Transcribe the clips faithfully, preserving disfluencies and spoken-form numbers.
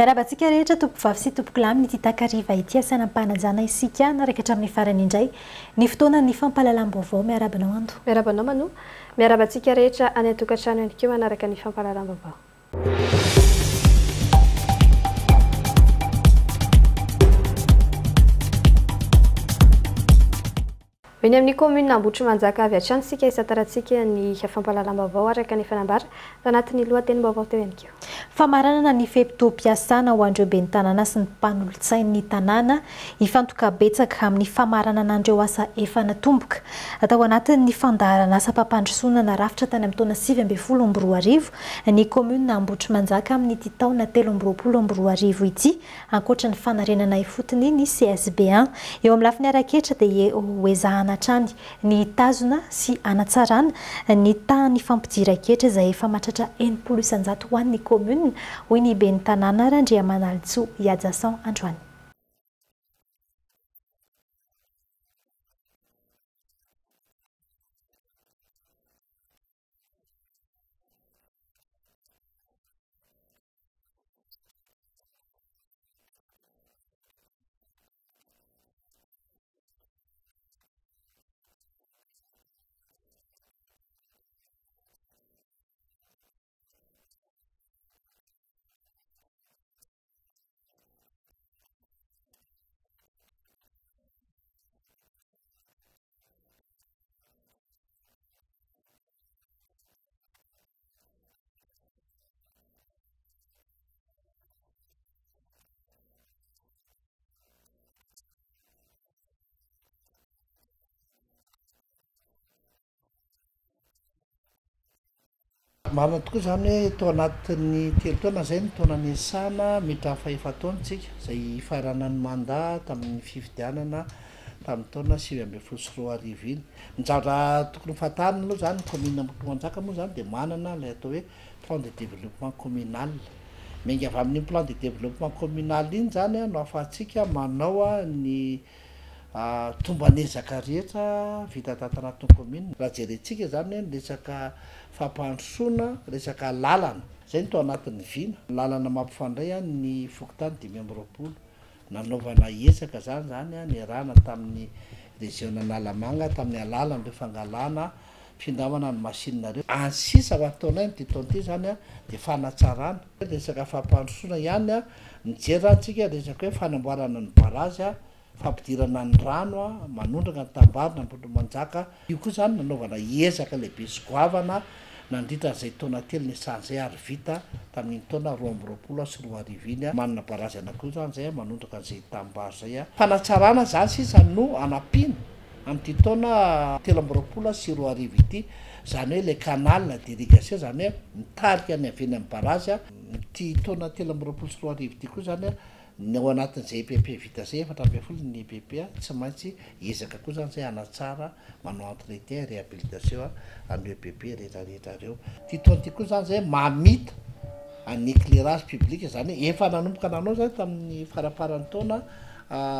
Miarahaba antsika rehetra tompovavy sy tompokolahy amin'ity takariva ity asaina am-panajana isika naraka hatramin'ny farany indray ny fotoana ny fampahalalam-baovao. Miarahaba anao Ando. Miarahaba anao Manu. Miarahaba antsika rehetra any an-tokantrano ihany koa manaraka ny fampahalalam-baovao. Eny amin'ny commune Ambohitrimanjaka avy hatrany isika isantarantsika ny fampahalalam-baovao araka ny fanambara tanatin'ny lohatenim-baovao teo ihany koa. Famaranana ny fe-potoam-piasana ho an'ireo ben'ny tanàna sy ny mpanolotsain'ny tanàna hifantoka betsaka amin'ny famaranana an'ireo asa efa natomboka. Atao anatin'ny fandaharan'asa mpampandrosoana narafitra tany amin'ny taona sivy ambin'ny folo amby roa arivo ny commune Ambohitrimanjaka amin'ity taona telo amby roapolo amby roa arivo ity, ankoatra ny fanarenana ifotony ny C S B un. Eo amin'ny lafiny ara-ketra dia ho ezahana hatrany ny tazona sy anatsarana ny tahan'ny fampidiran-ketra izay efa mahatratra enimpolo isanjato ho an'ny commune, hoy ny ben'ny tanàna Randriamanalitsoa Ihajason androany. Marina tokoa izany hoe tao anatin'ny telo taona izay ny taona niasana mety fahefa-taona isika izay hifaranan'ny mandat tamin'ny fifidianana tamin'ny taona sivy ambin'ny folo sy roa arivo iny. Ny zavatra tokony ho fantarina aloha izany, ny commune Ambohitrimanjaka moa izany dia manana ilay atao hoe plan de développement communal. Miainga avy amin'iny plan de développement communal iny izany no ahafahantsika manao ny tombanezaka rehetra vita tato anatin'ny commune. Raha jerentsika izany hoe ny resaka fampandrosoana, resaka lalana, izay no tao anatin'ny vina. Lalana mampifandray ny fokontany dimy amby roapolo. Nanaovana ezaka izany izany niarahana tamin'ny région Analamanga tamin'ny alalan'ireo fangalana findramana ny machine ireo. Any sisa ho ataonay amin'ity taona ity izany dia fanatsarana resaka fampandrosoana ihany. Mijery izany tsika resaka hoe fanamboarana ny barazy, fampidirana ny rano manondraka ny tambarina Ambohitrimanjaka. Io koa izany nanaovana ezaka lehibe sy goavana nandritra an'izay taona telo niasana izay ary vita tamin'iny taona roa amby roapolo sy roa arivo iny. Manana barazy anankiroa izany izay manondraka an'izay tambary izay. Fanatsarana izany sisa no anampiana amin'ity taona telo amby roapolo sy roa arivo ity, izany hoe le canal d'irrigation, izany hoe mitarika ny avy eny amin'ny barazy. Ity taona telo amby roapolo sy roa arivo ity koa izany ny ao anatin'izay E P P vita izay, efatra ambin'ny folo ny E P P, tsy maintsy ezaka koa izany izay hanatsara, manao entretien, réhabilitation an'ireo E P P rehetrarehetra ireo. Ity taona ity koa izany izay mamita ny éclairage public, izany hoe efa nanomboka nanao izany tamin'ny farafaran'ny taona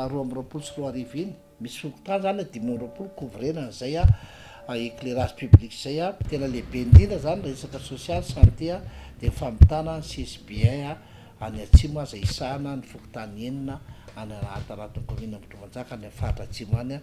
roa amby roapolo sy roa arivo iny. Misy fokontany izany dimy amby roapolo couvrena an'izay éclairage public izay. Tena lehibe indrindra izany resaka social, santé, dia famitana ny C S B un any atsimo izay isahana ny fokontany enina any anatin'ny commune Ambohitrimanjaka any amin'ny faritra atsimo any.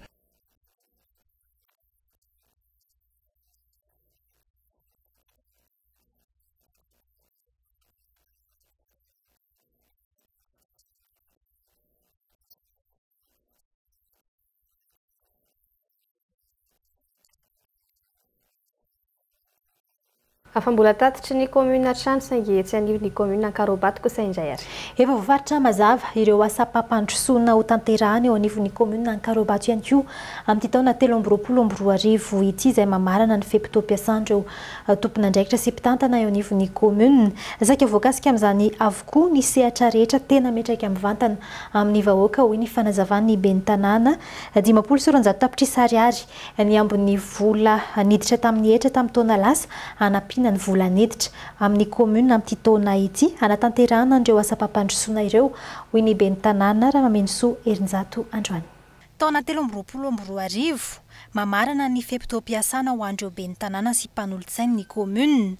Afa mbola tatitry ny commune hatrany saingy etsy anivon'ny commune Ankarobato kosa indray ary. Efa voafaritra mazava ireo asa mpampandrosoana ho tanterahana eo anivon'ny commune Ankarobato ihany koa amin'ity taona telo amby roapolo amby roa arivo ity izay mamarana ny fe-potoam-piasan'ireo tompon'andraikitra sy mpitantana eo anivon'ny commune. Saika voakasika amin'izany avokoa ny sehatra rehetra tena miantraika mivantana amin'ny vahoaka, hoy ny fanazavan'ny ben'ny tanàna. Dimampolo sy roanjato tapitrisa ariary ny ambin'ny vola niditra tamin'ny hetra tamin'ny taona lasa hanampiana ny vola niditra amin'ny commune amin'ity taona ity hanatanterahana an'ireo asa mpampandrosoana ireo, hoy ny ben'ny tanàna Ramamenosoa Herinjato androany. Taona telo amby roapolo amby roa arivo, mamarana ny fe-potoam-piasana ho an'ireo ben'ny tanàna sy mpanolotsain'ny commune.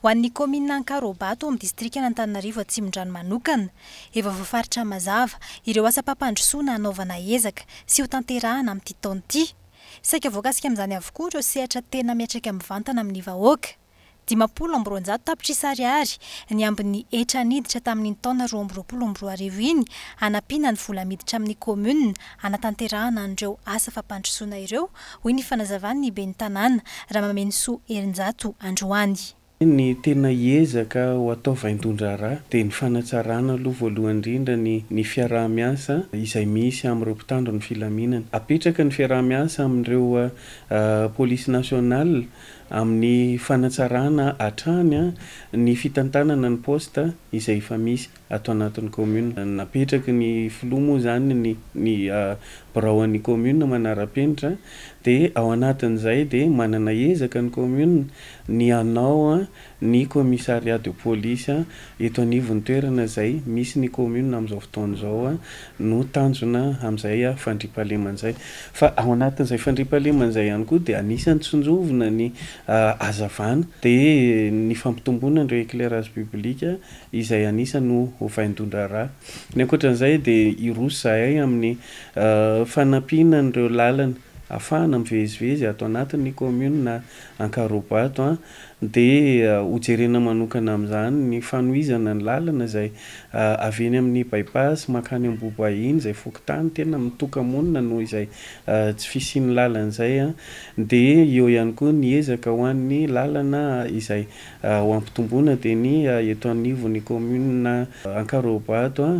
Ho an'ny commune Ankarobato amin'ny distrikan'Antananarivo Atsimondrano manokana, efa voafaritra mazava ireo asam-pampandrosoana hanaovana ezaka sy ho tanterahana amin'ity taona ity. Saika voakasika amin'izany avokoa ireo sehatra tena miantraika mivantana amin'ny vahoaka. Dimampolo amby roanjato tapitrisa ariary ny ambin'ny hetra niditra tamin'iny taona roa amby roapolo amby roa arivo iny, hanampiana ny vola miditra amin'ny commune hanatanterahana an'ireo asa fampandrosoana ireo, hoy ny fanazavan'ny ben'ny tanàna Ramamenosoa Herinjato androany. Ny tena ezaka ho atao vaindohan-draharaha dia ny fanatsarana aloha voalohany indrindra ny ny fiaraha-miasa izay misy amin'ireo mpitandro ny filaminana. Apetraka ny fiaraha-miasa amin'ireo polisy nationale amin'ny fanatsarana hatrany ny fitantanana ny poste izay efa misy ato anatin'ny commune. Napetraky ny filoha moa zany ny ny birao an'ny commune manara-penitra, dia ao anatin'izay dia manana ezaka ny commune ny hanao ny commissariat de police eto anivon'ny toerana izay misy ny commune amin'izao fotoana izao no tanjona amin'izay fandriampahalemana izay. Fa ao anatin'izay fandriampahalemana izay ihany koa dia anisan'ny tsinjovina ny hazavana, dia ny fampitomboana ireo éclairage public izay anisan'ny ho vaindohan-draharaha. Ny ankoatran'izay dia hiroso izahay amin'ny fanampiana an'ireo lalana ahafahana mivezivezy ato anatin'ny commune Ankarobato, dia hojerena manokana amin'izany ny fanohizana ny lalana izay avy eny amin'ny bypass mankany Ambohibahy izay fokontany tena mitoka-monina noho izay tsy fisian'ny lalana izay, dia eo ihany koa ny ezaka ho an'ny lalana izay ho ampitomboana dia ny eto anivon'ny commune Ankarobato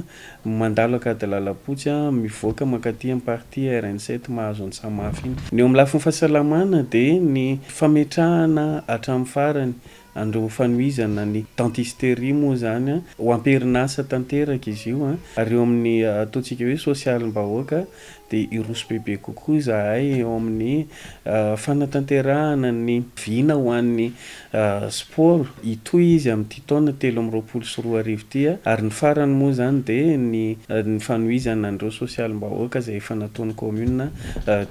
mandalo Ankadilalampotsy mivoaka mankaty amin'ny partie R N sept mahazo ny Samafy iny. Ny eo amin'ny lafiny fahasalamana dia ny fametrahana hatramin'ny farany an'ireo fanohizana ny dentisterie moa zany ho amperinasa tanteraka izy io, ary eo amin'ny ataontsika hoe sosialim-bahoaka dia hiroso bebe kokoa izahay eo amin'ny fanatanterahana ny vina ho an'ny sport. Hitohy izy amin'ity taona telo amby roapolo sy roa arivo ity, ary ny farany moa zany dia ny ny fanohizana an'ireo sosialim-bahoaka izay efa nataon'ny commune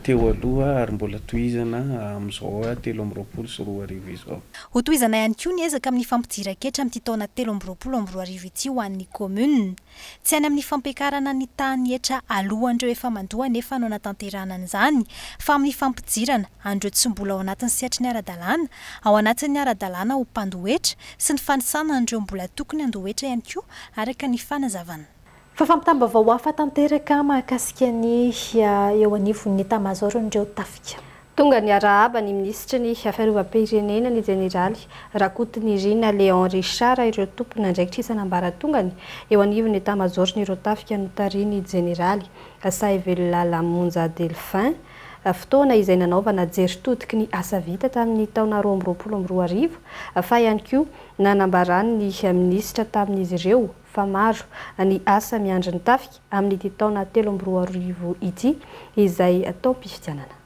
teo aloha ary mbola tohizana amin'izao telo amby roapolo sy roa arivo izao. Hotohizana ihany koa ny ezaka amin'ny fampidiran-ketra amin'ity taona telo amby roapolo amby roa arivo ity ho an'ny commune. Tsy any amin'ny fampiakarana ny tahan'ny hetra alohan'ireo efa mandoa nefa no anatanterahana an'izany, fa amin'ny fampidirana an'ireo tsy mbola ao anatin'ny sehatry ny ara-dalàna, ao anatin'ny ara-dalàna ho mpandoa hetra sy ny fanisana an'ireo mbola tokony handoa hetra ihany koa, araka ny fanazavana. Fa fampitam-baovao hafa tanteraka mahakasika ny eo anivon'ny état-major-n'ireo tafika. Tonga ny arahaba ny minisitry ny fiarovam-pirenena ny jeneraly Rakotonirina Léon Richard ireo tompon'andraikitra isan'ambaratongany eo anivon'ny état-major-n'ireo tafika notarihin'ny jeneraly Sahivelo Monja Delphin. Fotoana izay nanaovana jery todiky ny asa vita tamin'ny taona roa amby roapolo amby roa arivo, fa ihany koa nanambarany ny minisitra tamin'izy ireo fa maro ny asa miandry ny tafika amin'ity taona telo amby roa arivo ity izay taom-pifidianana.